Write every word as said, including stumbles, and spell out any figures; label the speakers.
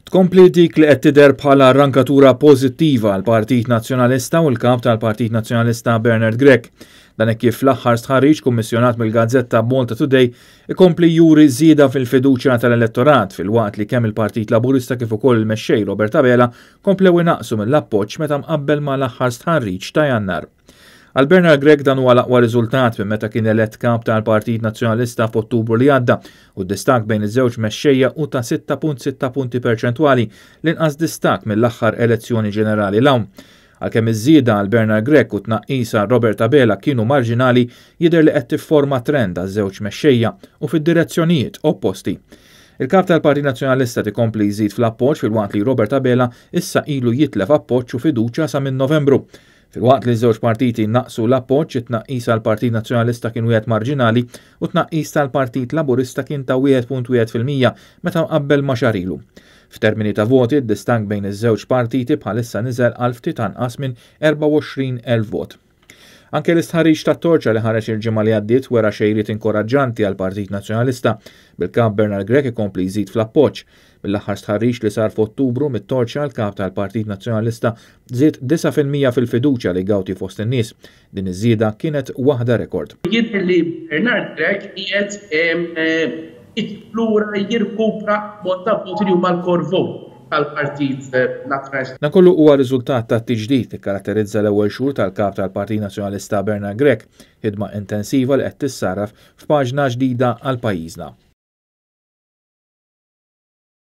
Speaker 1: Tkompli dik li qed tidher bħala rankatura pożittiva għal Partit Nazzjonalista u l-kap tal-Partit Nazzjonalista Bernard Grech. Dan hekk kif l-aħħar stħarriġ kummissjonat mill-gazzetta Malta Today ikompli juri żieda fil-fiduċja tal-elettorat, filwaqt li kemm il-Partit Laburista kif ukoll il-mexxej Robert Abela komplew inaqsu mill-appoġġ meta mqabbel mal-aħħar stħarriġ ta' Jannar. Għal Bernard Grech dan huwa l-aqwa riżultat minn meta kien elett kap tal-Partit Nazzjonalista f'Ottubru li għadda, u d-distakk bejn iż-żewġ mexxejja hu ta' sitta punt sitta punti perċentwali, l-inqas distakk mill-aħħar elezzjoni ġenerali 'l hawn. Għalkemm iż-żieda għal Bernard Grech u tnaqqis għal Robert Abela kienu marġinali, jidher li qed tifforma trend għaż-żewġ mexxejja u fid-direzzjonijiet opposti. Il-kap tal-Partit Nazzjonalista tikompli jżid fl-appoġġ, filwaqt li Robert Abela issa ilu jitlef appoġġ u fiduċja sa minn Novembru. Filwaqt li żewġ partiti naqsu l-appoġġ, it-tnaqqis għal Partit Nazzjonalista kien wieħed marġinali u tnaqqis tal-Partit Laburista kien ta' wieħed punt wieħed fil-mija meta mqabbel ma' xahar ilu. F'termini ta' voti, id-distakk bejn iż-żewġ partiti bħalissa niżel għal ftit anqas minn erbgħa u għoxrin elf vot. Anke l-istħarriġ ta' Torċa li ħareġ il-ġimgħa li għaddiet wera xejriet inkoraġġanti għal Partit Nazzjonalista, bil-kap Bernard Grech ikompli jżid fl-appoġġ. Mill-aħħar stħarriġ li sar f'Ottubru mit-Torċa, l-kap tal-Partit Nazzjonalista żied disgħa fil-mija fil-fiduċja li jgawdi fost in-nies. Din iż-żieda kienet waħda rekord.
Speaker 2: Jidher li Bernard Grech qiegħed lura jirkupra mod ta' voti li huma l-core vote tal-Partit Nazzjonalista.
Speaker 1: Dan kollu huwa riżultat ta' tiġdid li karatterizza l-ewwel xhur tal-kap tal-Partit Nazzjonalista Bernard Grech, ħidma intensiva li qed tissarraf f'paġna ġdida għal pajjiżna.